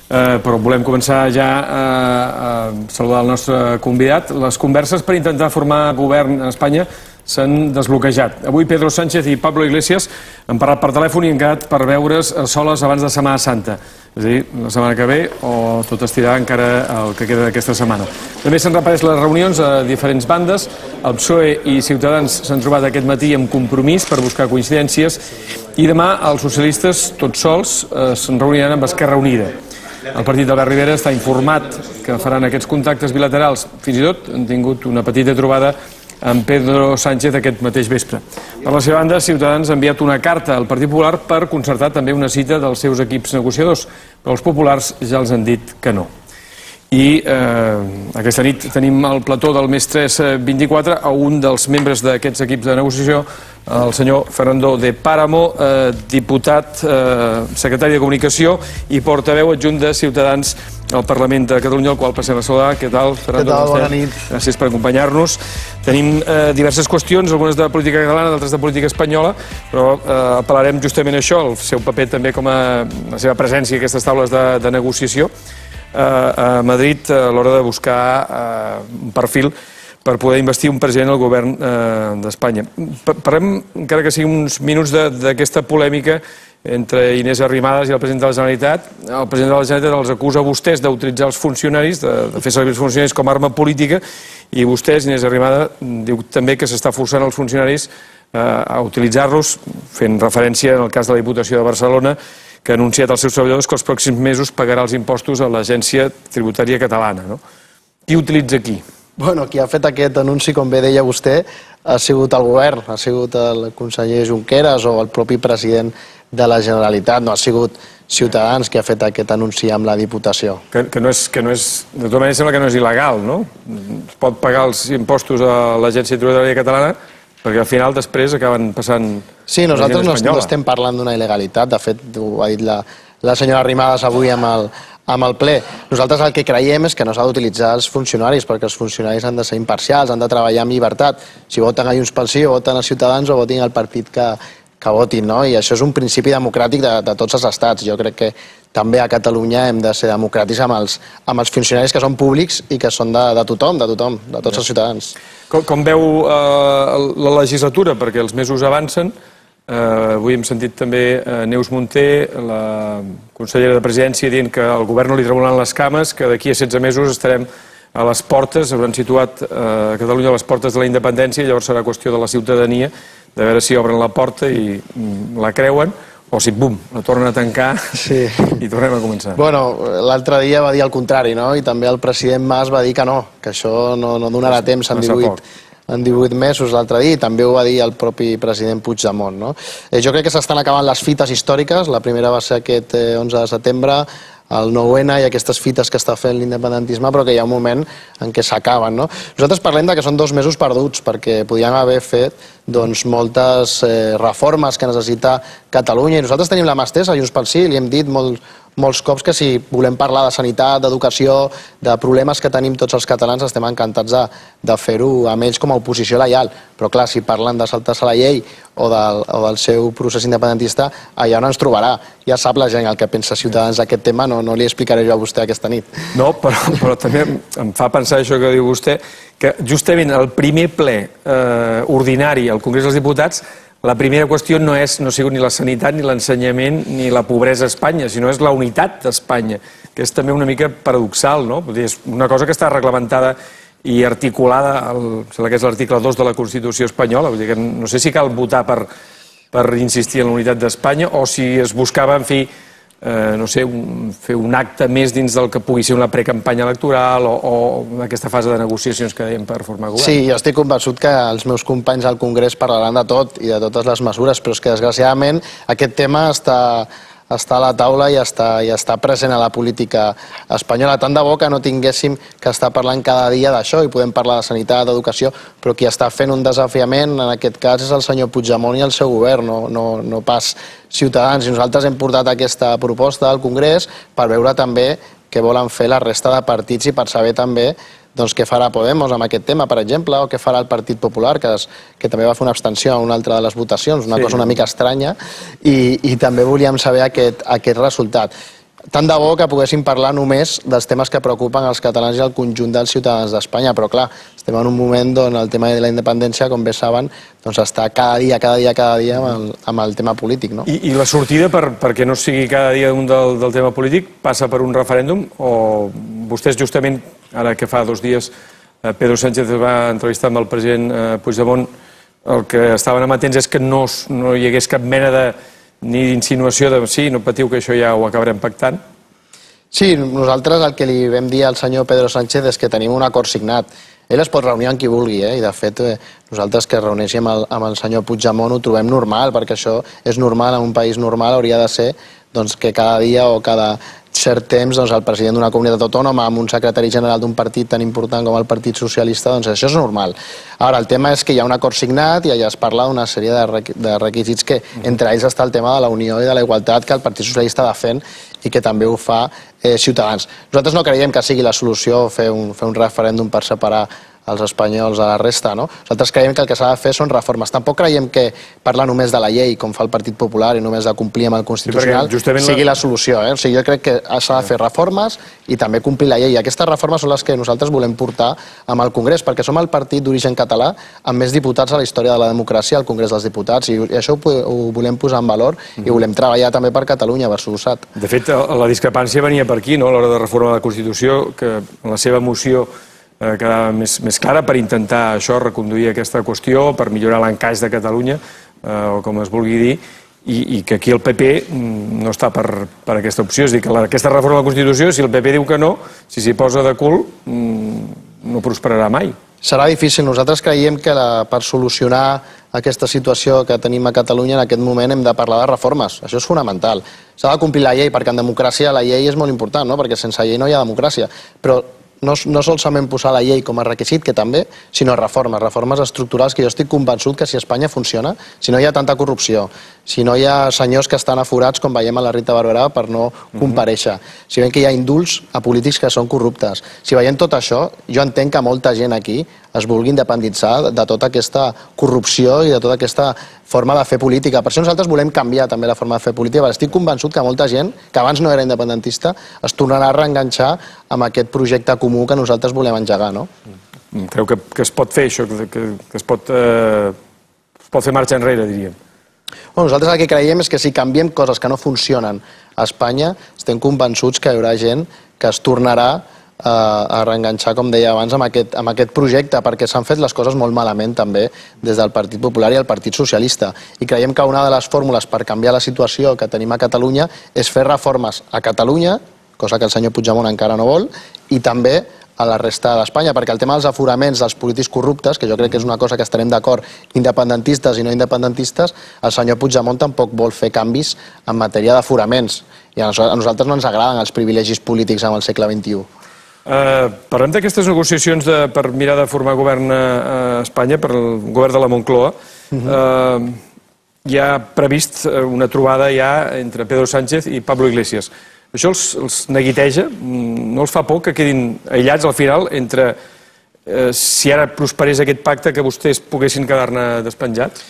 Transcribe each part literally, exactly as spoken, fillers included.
però volem començar ja a saludar el nostre convidat. Les converses per intentar formar govern a Espanya s'han desbloquejat. Avui Pedro Sánchez i Pablo Iglesias han parlat per telèfon i han quedat per veure's soles abans de Setmana Santa. És a dir, la setmana que ve o tot estirà encara el que queda d'aquesta setmana. També s'han repetit les reunions a diferents bandes. El P S O E i Ciutadans s'han trobat aquest matí amb Compromís per buscar coincidències i demà els socialistes, tots sols, se'n reuniran amb Esquerra Unida. El partit d'Albert Rivera està informat que faran aquests contactes bilaterals. Fins i tot han tingut una petita trobada amb Pedro Sánchez aquest mateix vespre. Per la seva banda, Ciutadans ha enviat una carta al Partit Popular per concertar també una cita dels seus equips negociadors, però els populars ja els han dit que no. I aquesta nit tenim al plató del Més tres vint-i-quatre a un dels membres d'aquests equips de negociació, el senyor Fernando de Páramo, diputat, secretari de Comunicació i portaveu adjunt de Ciutadans al Parlament de Catalunya, al qual passem a saludar. Què tal, Fernando? Què tal? Bona nit. Gràcies per acompanyar-nos. Tenim diverses qüestions, algunes de política catalana, d'altres de política espanyola, però apel·larem justament a això, el seu paper també com a la seva presència a aquestes taules de negociació a Madrid a l'hora de buscar un perfil per poder investir un president al govern d'Espanya. Parlem, encara que sigui uns minuts, d'aquesta polèmica entre Inés Arrimadas i el president de la Generalitat. El president de la Generalitat els acusa a vostès d'utilitzar els funcionaris, de fer servir els funcionaris com a arma política, i vostès, Inés Arrimadas, diu també que s'està forçant els funcionaris a utilitzar-los, fent referència en el cas de la Diputació de Barcelona, que ha anunciat als seus treballadors que els pròxims mesos pagarà els impostos a l'Agència Tributària Catalana. Qui utilitza qui? Bueno, qui ha fet aquest anunci, com bé deia vostè, ha sigut el govern, ha sigut el conseller Junqueras o el propi president de la Generalitat, no ha sigut Ciutadans qui ha fet aquest anunci amb la Diputació. Que no és, de tota manera sembla que no és il·legal, no? Es pot pagar els impostos a l'Agència Tributària Catalana perquè al final després acaben passant... Sí, nosaltres no estem parlant d'una il·legalitat, de fet ho ha dit la senyora Arrimadas avui amb el ple. Nosaltres el que creiem és que no s'ha d'utilitzar els funcionaris, perquè els funcionaris han de ser imparcials, han de treballar amb llibertat. Si voten a Junts pel Sí, o voten a Ciutadans o votin al partit que votin, no? I això és un principi democràtic de tots els estats. Jo crec que també a Catalunya hem de ser democràtics amb els funcionaris que són públics i que són de tothom, de tothom, de tots els ciutadans. Com veu la legislatura? Perquè els mesos avancen. Avui hem sentit també Neus Munté, la consellera de Presidència, dient que al govern no li tremolaran les cames, que d'aquí a setze mesos estarem a les portes, hauran situat a Catalunya a les portes de la independència, i llavors serà qüestió de la ciutadania de veure si obren la porta i la creuen, o si, bum, la tornen a tancar i tornem a començar. Bueno, l'altre dia va dir el contrari, no? I també el president Mas va dir que no, que això no donarà temps en divuit mesos l'altre dia, i també ho va dir el propi president Puigdemont, no? Jo crec que s'estan acabant les fites històriques. La primera va ser aquest onze de setembre, el nou ena i aquestes fites que està fent l'independentisme, però que hi ha un moment en què s'acaben, no? Nosaltres parlem que són dos mesos perduts, perquè podíem haver fet moltes reformes que necessita Catalunya, i nosaltres tenim la mà estesa, Junts pel Sí, li hem dit molts cops que si volem parlar de sanitat, d'educació, de problemes que tenim tots els catalans, estem encantats de fer-ho amb ells com a oposició lleial. Però clar, si parlen de saltar-se la llei o del seu procés independentista, allà on ens trobarà. Ja sap la gent el que pensa Ciutadans d'aquest tema, no li explicaré jo a vostè aquesta nit. No, però també em fa pensar això que diu vostè, que justament el primer ple ordinari al Congrés dels Diputats, la primera qüestió no ha sigut ni la sanitat, ni l'ensenyament, ni la pobresa a Espanya, sinó és la unitat d'Espanya, que és també una mica paradoxal, no? És una cosa que està reglamentada i articulada, sembla que és l'article dos de la Constitució espanyola, vull dir que no sé si cal votar per insistir en la unitat d'Espanya o si es buscava, en fi, no sé, fer un acte més dins del que pugui ser una precampanya electoral o aquesta fase de negociacions que dèiem per formar govern. Sí, jo estic convençut que els meus companys al Congrés parlaran de tot i de totes les mesures, però és que desgraciadament aquest tema està a la taula i està present a la política espanyola. Tant de bo que no tinguéssim que estar parlant cada dia d'això i podem parlar de sanitat, d'educació, però qui està fent un desafiament en aquest cas és el senyor Puigdemont i el seu govern, no pas Ciutadans. I nosaltres hem portat aquesta proposta al Congrés per veure també què volen fer la resta de partits i per saber també què farà Podemos amb aquest tema, per exemple, o què farà el Partit Popular, que també va fer una abstenció a una altra de les votacions, una cosa una mica estranya, i també volíem saber aquest resultat. tant de bo que poguéssim parlar només dels temes que preocupen els catalans i el conjunt dels ciutadans d'Espanya, però clar, estem en un moment on el tema de la independència, com bé saben, doncs està cada dia, cada dia, cada dia amb el, amb el tema polític, no? I, i la sortida, per, perquè no sigui cada dia un del, del tema polític, passa per un referèndum o vostès justament, ara que fa dos dies Pedro Sánchez va entrevistar amb el president Puigdemont, el que estaven amatents és que no, no hi hagués cap mena de ni d'insinuació de sí, no patiu que això ja ho acabarem pactant? Sí, nosaltres el que li vam dir al senyor Pedro Sánchez és que tenim un acord signat. Ell es pot reunir amb qui vulgui, eh? I de fet nosaltres que es reuneixem amb el senyor Puigdemont ho trobem normal, perquè això és normal, en un país normal hauria de ser doncs, que cada dia o cada cert temps doncs, el president d'una comunitat autònoma amb un secretari general d'un partit tan important com el Partit Socialista, doncs això és normal. Ara, el tema és que hi ha un acord signat i allà es parla d'una sèrie de requisits que entre ells està el tema de la unió i de la igualtat que el Partit Socialista defèn i que també ho fa eh, Ciutadans. Nosaltres no creiem que sigui la solució fer un, fer un referèndum per separar els espanyols a la resta, no? Nosaltres creiem que el que s'ha de fer són reformes. Tampoc creiem que parlar només de la llei, com fa el Partit Popular, i només de complir amb el Constitucional, sigui la solució. O sigui, jo crec que s'ha de fer reformes i també complir la llei. I aquestes reformes són les que nosaltres volem portar amb el Congrés, perquè som el partit d'origen català amb més diputats a la història de la democràcia al Congrés dels Diputats, i això ho volem posar en valor i volem treballar també per Catalunya, per Soluçat. De fet, la discrepància venia per aquí, a l'hora de reformar la Constitució, que en la seva moció quedava més, més clara per intentar això, reconduir aquesta qüestió, per millorar l'encaix de Catalunya, eh, o com es vulgui dir, i, i que aquí el P P no està per, per aquesta opció. És a dir, que la, aquesta reforma de la Constitució, si el P P diu que no, si s'hi posa de cul, no prosperarà mai. Serà difícil. Nosaltres creiem que la, per solucionar aquesta situació que tenim a Catalunya en aquest moment hem de parlar de reformes. Això és fonamental. S'ha de complir la llei, perquè en democràcia la llei és molt important, no? Perquè sense llei no hi ha democràcia. Però no, no solament posar la llei com a requisit, que també, sinó reformes, reformes estructurals, que jo estic convençut que si Espanya funciona, si no hi ha tanta corrupció, si no hi ha senyors que estan aforats, com veiem a la Rita Barberà, per no comparèixer, si veiem que hi ha indults a polítics que són corruptes, si veiem tot això, jo entenc que molta gent aquí es vulgui independitzar de tota aquesta corrupció i de tota aquesta forma de fer política. Per això nosaltres volem canviar també la forma de fer política, perquè estic convençut que molta gent, que abans no era independentista, es tornarà a reenganxar amb aquest projecte comú que nosaltres volem engegar, no? Creu que, que es pot fer això, que, que es, pot, eh, es pot fer marxa enrere, diríem? Bueno, nosaltres el que creiem és que si canviem coses que no funcionen a Espanya, estem convençuts que hi haurà gent que es tornarà a reenganxar, com deia abans, amb aquest, amb aquest projecte, perquè s'han fet les coses molt malament també des del Partit Popular i el Partit Socialista. I creiem que una de les fórmules per canviar la situació que tenim a Catalunya és fer reformes a Catalunya, cosa que el senyor Puigdemont encara no vol, i també a la resta d'Espanya, perquè el tema dels aforaments dels polítics corruptes, que jo crec que és una cosa que estarem d'acord, independentistes i no independentistes, el senyor Puigdemont tampoc vol fer canvis en matèria d'aforaments. I a nosaltres no ens agraden els privilegis polítics en el segle vint-i-u. Uh, parlem d'aquestes negociacions de, per mirar de formar govern a, a Espanya, per el govern de la Moncloa. Uh-huh. uh, hi ha previst una trobada ja entre Pedro Sánchez i Pablo Iglesias. Això els, els neguiteja? No els fa por que quedin aïllats al final entre uh, si ara prosperés aquest pacte que vostès poguessin quedar-ne despenjats?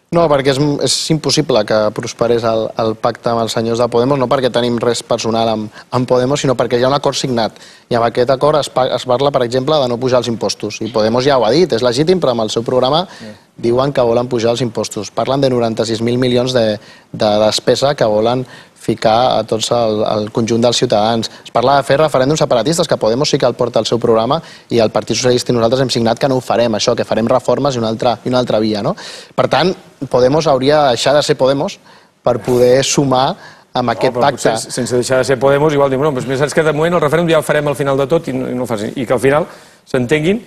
No, perquè és, és impossible que prosperés el, el pacte amb els senyors de Podemos, no perquè tenim res personal amb, amb Podemos, sinó perquè hi ha un acord signat. I amb aquest acord es, es parla, per exemple, de no pujar els impostos. I Podemos ja ho ha dit, és legítim, però amb el seu programa sí. diuen que volen pujar els impostos. Parlen de noranta-sis mil milions de, de despesa que volen ficar a tots el, el conjunt dels ciutadans. Es parla de fer referèndums separatistes, que Podemos sí que el porta al seu programa, i el Partit Socialista i nosaltres hem signat que no ho farem, això, que farem reformes i una altra, i una altra via, no? Per tant, Podemos hauria de deixar de ser Podemos per poder sumar amb aquest oh, pacte. Sense deixar de ser Podemos, igual diu, no, però saps que de moment el referèndum ja el farem al final de tot i no, i no el facin. I que al final s'entenguin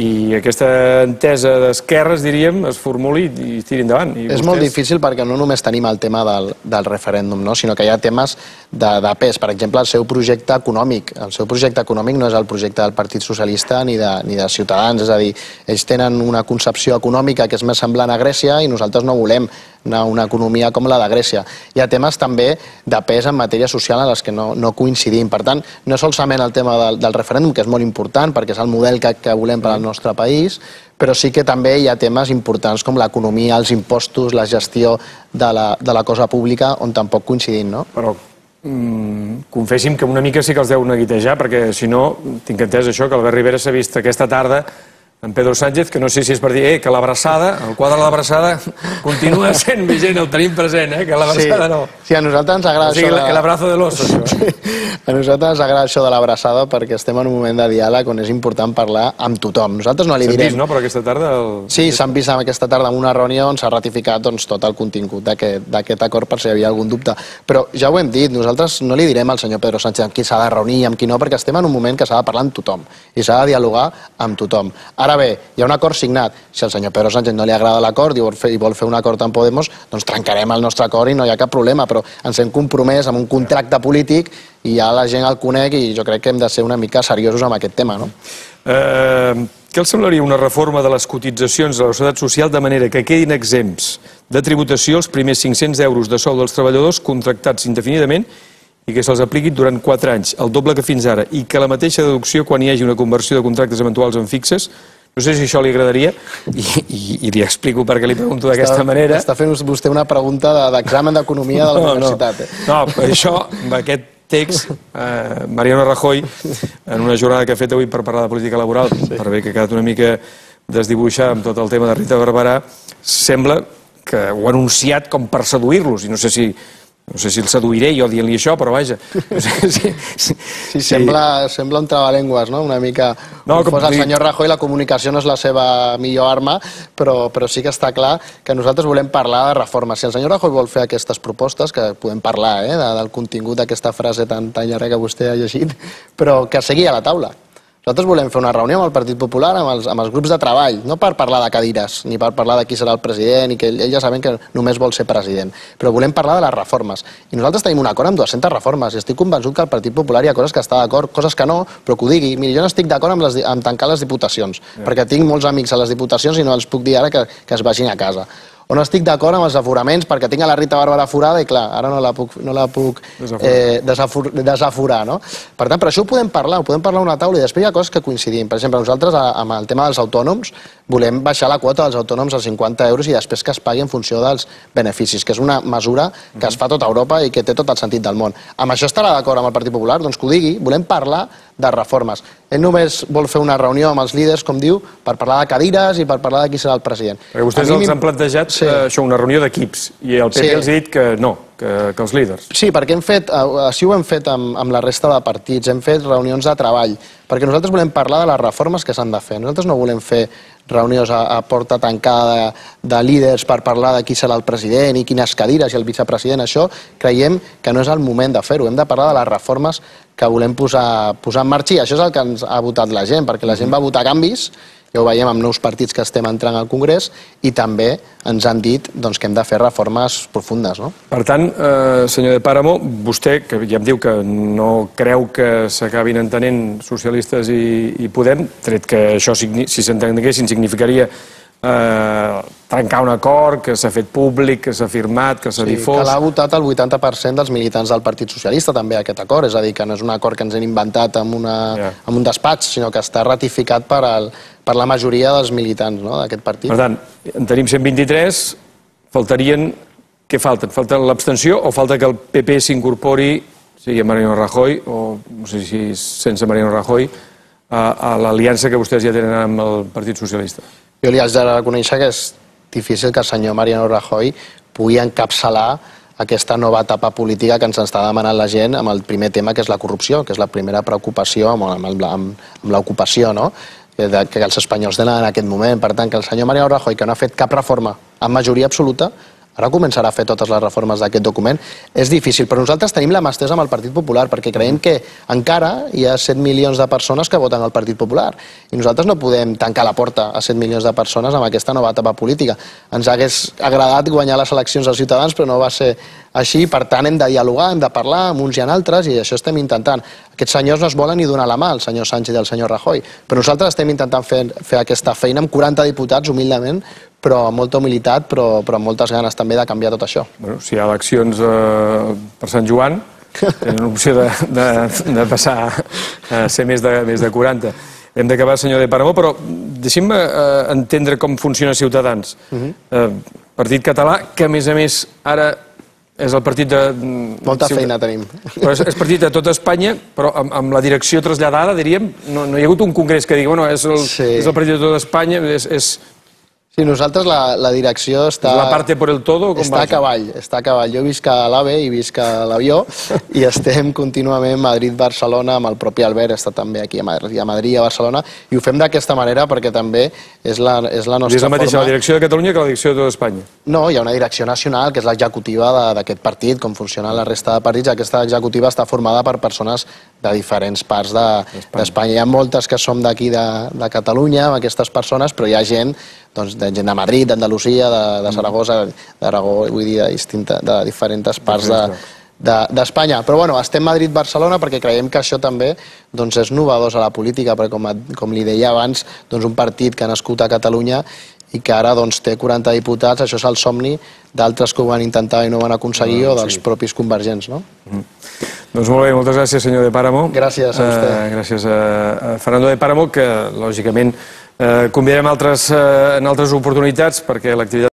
i aquesta entesa d'esquerres, diríem, es formuli i tiri endavant. I és vostès... molt difícil perquè no només tenim el tema del, del referèndum, no? Sinó que hi ha temes de, de pes. Per exemple, el seu projecte econòmic. El seu projecte econòmic no és el projecte del Partit Socialista ni de, ni de Ciutadans. És a dir, ells tenen una concepció econòmica que és més semblant a Grècia i nosaltres no volem anar a una economia com la de Grècia. Hi ha temes també de pes en matèria social en les que no, no coincidim. Per tant, no solament el tema del, del referèndum, que és molt important perquè és el model que, que volem per al nostre país, però sí que també hi ha temes importants com l'economia, els impostos, la gestió de la, de la cosa pública, on tampoc coincidim, no? Però confessi'm que una mica sí que els deu neguitejar, perquè si no, tinc entès això, que Albert Rivera s'ha vist aquesta tarda en Pedro Sánchez, que no sé si és per dir eh, que l'abraçada, el quadre de l'abraçada continua sent vigent, el tenim present, eh, que l'abraçada no. Sí, a nosaltres ens agrada o sigui, això de... el abrazo de l'oso, això. A nosaltres ens agrada això de l'abraçada perquè estem en un moment de diàleg on és important parlar amb tothom. Nosaltres no li direm... S'han vist, no?, però aquesta tarda... El... Sí, s'han vist aquesta tarda en una reunió on s'ha ratificat doncs, tot el contingut d'aquest acord per si hi havia algun dubte. Però ja ho hem dit, nosaltres no li direm al senyor Pedro Sánchez amb qui s'ha de reunir i amb qui no, perquè estem en un moment que s'ha de parlar amb tothom i s'ha de dialogar amb tothom. Ara bé, hi ha un acord signat. Si al senyor Pedro Sánchez no li agrada l'acord i vol fer, i vol fer un acord amb Podemos, doncs trencarem el nostre acord i no hi ha cap problema, però ens hem compromès amb un contracte polític i ja la gent el conec i jo crec que hem de ser una mica seriosos amb aquest tema, no? Eh, què els semblaria una reforma de les cotitzacions de la Seguretat Social de manera que quedin exempts de tributació els primers cinc-cents euros de sou dels treballadors contractats indefinidament i que se'ls apliquin durant quatre anys, el doble que fins ara, i que la mateixa deducció quan hi hagi una conversió de contractes eventuals en fixes? No sé si això li agradaria i, i, i li explico per què li pregunto d'aquesta manera. Està fent vostè una pregunta d'examen d'economia de la no, universitat. No, no, per això, amb aquest text, eh, Mariano Rajoy, en una jornada que ha fet avui per parlar de política laboral, sí. per bé que ha quedat una mica desdibuixar amb tot el tema de Rita Barberà, sembla que ho ha anunciat com per seduir-los, i no sé si... No sé si el seduiré jo dient-li això, però vaja. Sí, sí, sí, sembla, sembla un trabalengües, no? Una mica... No, com fos el senyor Rajoy, la comunicació no és la seva millor arma, però, però sí que està clar que nosaltres volem parlar de reformes. Si el senyor Rajoy vol fer aquestes propostes, que podem parlar eh, del contingut d'aquesta frase tan, tan llarga que vostè ha llegit, però que segui a la taula. Nosaltres volem fer una reunió amb el Partit Popular, amb els, amb els grups de treball, no per parlar de cadires, ni per parlar de qui serà el president, i que ells ja saben que només vol ser president, però volem parlar de les reformes. I nosaltres tenim un acord amb dues-centes reformes, i estic convençut que al Partit Popular hi ha coses que està d'acord, coses que no, però que ho digui. Miri, jo no estic d'acord amb, les, amb tancar les diputacions, yeah. perquè tinc molts amics a les diputacions i no els puc dir ara que, que es vagin a casa. O no estic d'acord amb els aforaments perquè tinc a la Rita Barberà forada i clar, ara no la puc, no la puc eh, desafur, desaforar, no? Per tant, per això ho podem parlar, ho podem parlar a una taula i després hi ha coses que coincidim. Per exemple, nosaltres amb el tema dels autònoms volem baixar la quota dels autònoms als cinquanta euros i després que es pagui en funció dels beneficis, que és una mesura que es fa a tota Europa i que té tot el sentit del món. Amb això estarà d'acord amb el Partit Popular? Doncs que ho digui, volem parlar de reformes. Ell només vol fer una reunió amb els líders, com diu, per parlar de cadires i per parlar de qui serà el president. Perquè vostès els han plantejat sí. eh, això, una reunió d'equips, i el P P sí. els ha dit que no, que, que els líders. Sí, perquè hem fet, així ho hem fet amb, amb la resta de partits, hem fet reunions de treball, perquè nosaltres volem parlar de les reformes que s'han de fer. Nosaltres no volem fer reunions a, a porta tancada de, de líders per parlar de qui serà el president i quines cadires i el vicepresident. Això creiem que no és el moment de fer-ho. Hem de parlar de les reformes que volem posar, posar en marxa i això és el que ens ha votat la gent, perquè la gent va votar canvis, ja ho veiem amb nous partits que estem entrant al Congrés i també ens han dit doncs, que hem de fer reformes profundes. No? Per tant, eh, senyor de Páramo, vostè, que ja em diu que no creu que s'acabin entenent socialistes i, i Podem, tret que això, si s'entenguessin, significaria eh, trencar un acord que s'ha fet públic, que s'ha firmat, que s'ha sí, difós... Que l'ha votat el vuitanta per cent dels militants del Partit Socialista, també, aquest acord. És a dir, que no és un acord que ens hem inventat en, una, yeah. en un despatx, sinó que està ratificat per, el, per la majoria dels militants no, d'aquest partit. Per tant, en tenim cent vint-i-tres, faltarien... Què falten? Falta l'abstenció o falta que el P P s'incorpori, sigui a Mariano Rajoy, o no sé si sense Mariano Rajoy, a, a l'aliança que vostès ja tenen amb el Partit Socialista? Jo li haig de reconèixer que és difícil que el senyor Mariano Rajoy pugui encapçalar aquesta nova etapa política que ens està demanant la gent amb el primer tema, que és la corrupció, que és la primera preocupació amb, amb, amb, amb l'ocupació, no? que, que els espanyols tenen en aquest moment. Per tant, que el senyor Mariano Rajoy, que no ha fet cap reforma amb majoria absoluta, ara començarà a fer totes les reformes d'aquest document. És difícil, però nosaltres tenim la mà estesa amb el Partit Popular, perquè creiem que encara hi ha set milions de persones que voten al Partit Popular. I nosaltres no podem tancar la porta a set milions de persones amb aquesta nova etapa política. Ens hagués agradat guanyar les eleccions als ciutadans, però no va ser així. Per tant, hem de dialogar, hem de parlar amb uns i amb altres, i això estem intentant. Aquests senyors no es volen ni donar la mà, el senyor Sánchez i el senyor Rajoy, però nosaltres estem intentant fer, fer aquesta feina amb quaranta diputats, humilment, però amb molta humilitat, però, però amb moltes ganes també de canviar tot això. Bueno, si hi ha eleccions eh, per Sant Joan, tenen opció de, de, de passar a ser més de, més de quaranta. Hem d'acabar, senyor de Páramo, però deixem-me eh, entendre com funciona Ciutadans. Uh-huh. eh, Partit català, que a més a més ara és el partit de... Molta feina tenim. Però és, és partit de tota Espanya, però amb, amb la direcció traslladada, diríem, no, no hi ha hagut un congrés que digui, bueno, és el, sí. és el partit de tota Espanya, és... és... Sí, nosaltres la, la direcció està... La parte por el todo? Com està a cavall, està a cavall. Jo visc a l'AVE i visc a l'avió i estem contínuament Madrid-Barcelona amb el propi Albert, està també aquí a Madrid, a Madrid i a Barcelona, i ho fem d'aquesta manera perquè també és la, és la nostra forma... És la mateixa forma... la direcció de Catalunya que la direcció de tota Espanya? No, hi ha una direcció nacional, que és l'executiva d'aquest partit, com funciona la resta de partits. Aquesta executiva està formada per persones de diferents parts d'Espanya. Hi ha moltes que som d'aquí de, de Catalunya, amb aquestes persones, però hi ha gent, doncs, de gent de Madrid, d'Andalusia, de, de Saragossa, d'Aragó, vull dir, de, distinta, de diferents parts d'Espanya. De, de, Però bueno, estem Madrid-Barcelona perquè creiem que això també doncs, és novedós a la política, perquè com, com li deia abans, doncs, un partit que ha nascut a Catalunya i que ara doncs, té quaranta diputats, això és el somni d'altres que ho van intentar i no van aconseguir, no, o dels sí. propis convergents, no? Mm. Doncs molt bé, moltes gràcies, senyor de Páramo. Gràcies a vostè. Uh, gràcies a, a Fernando de Páramo, que lògicament eh, convidarem altres, eh, en altres oportunitats perquè l'activitat